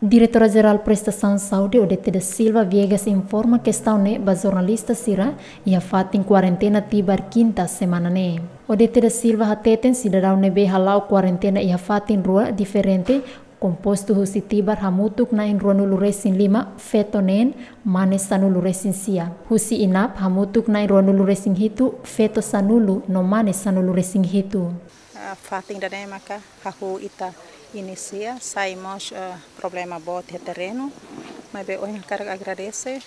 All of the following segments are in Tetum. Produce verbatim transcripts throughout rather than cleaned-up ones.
Diretora Jerál Prestasaun Saúde, Odete da Silva Viegas, informa kestaun ne'e ba jornalista sira iha fatin kuarentena Tibar, kinta semana ne'e. Odete da Silva hateten sidadaun ne'ebé hala'o kuarentena iha fatin rua diferente, kompostu husi Tibar hamutuk na'in ruanulu resin lima, feto neen, mane sanulu resin sia. Husi Inap hamutuk na'in ruanulu resin hitu, feto sanulu no mane sanulu resin hitu. Ah, fatin ida-ne'e maka hahú ita inisia, sai mós, eh, problema boot iha terrenu, maibé ohin hakarak agradese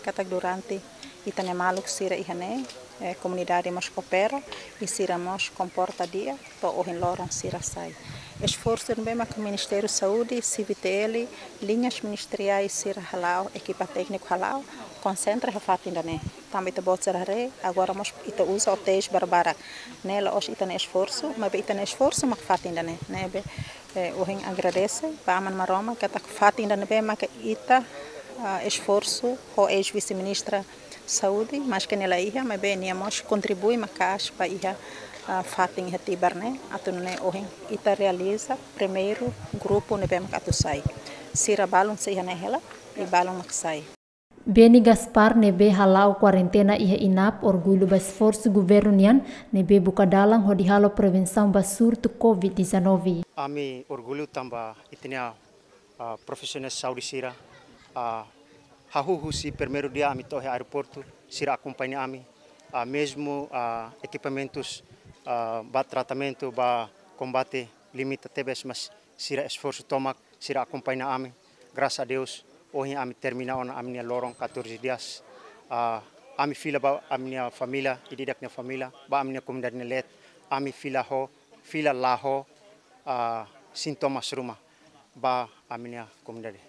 katak durante ita-nia maluk sira iha ne'e, eh, komunidade mós koopera, i sira mós komporta di'ak, to'o ohin loron sira sai. Esforsu ne'ebé maka Ministériu Saúde, C V T L, liñas ministeriais sira hala'o, ekipa tékniku hala'o, konsentra iha fatin ida-ne'e. Tanba ita-boot sira haree, agora mós ita uza hotéis barbarak. Ne'e la'ós ita-nia esforsu, maibé ita-nia esforsu mak fatin ida-ne'e. Ne'ebé, eh, ohin agradese ba Aman Maromak katak fatin ida-ne'ebé maka ita, ah, esforsu ho eis-vise-ministra Saúde, maske nia la iha, maibé nia mós kontribui maka'as ba iha, ah, fatin iha Tibar ne'e, atu nune'e ohin ita realiza primeiru grupu ne'ebé maka atu sai. Sira balun sei iha ne'e hela, i balun mak sai. Beni Gaspar ne'ebé hala'o kuarentena iha Inap orgullu ba esforsu governu nian ne'ebé buka dalan hodi halo prevensaun ba surtu covid dezanove. Ami orgullu tanba ita-nia, ah, profisionál saúde sira, ah, hahú husi primeiru dia ami to'o iha aeroportu, sira akompaña ami, ah, mezmu, ah, ekipamentus, ah, ba tratamentu, ba kombate limita tebes, mas sira esforsu tomak, sira akompaña ami. Grasas a Deus, ohin ami termina ona ami-nia loron catorze dias. Ah, ami fila ba ami-nia família, ida-idak nia família, ba ami-nia komunidade nia leet, ami fila ho, fila la ho, ah, sintomas ruma ba ami-nia komunidade.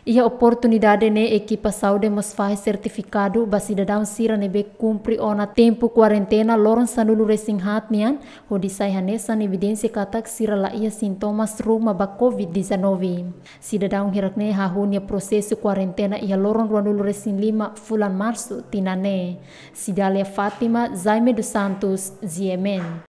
Iha oportunidade ne'e ekipa saúde mós fahe sertifikadu ba sidadaun sira ne'ebé kumpre ona tempu kuarentena loron sanulu resin haat nian, hodi sai hanesan evidénsia katak sira la iha sintomas ruma ba covid dezanove. Sidadaun hirak ne'e hahú nia prosesu kuarentena iha loron ruanulu resin lima fulan Marsu tinan ne'e. Cidália Fátima, Jaime dos Santos, G M N.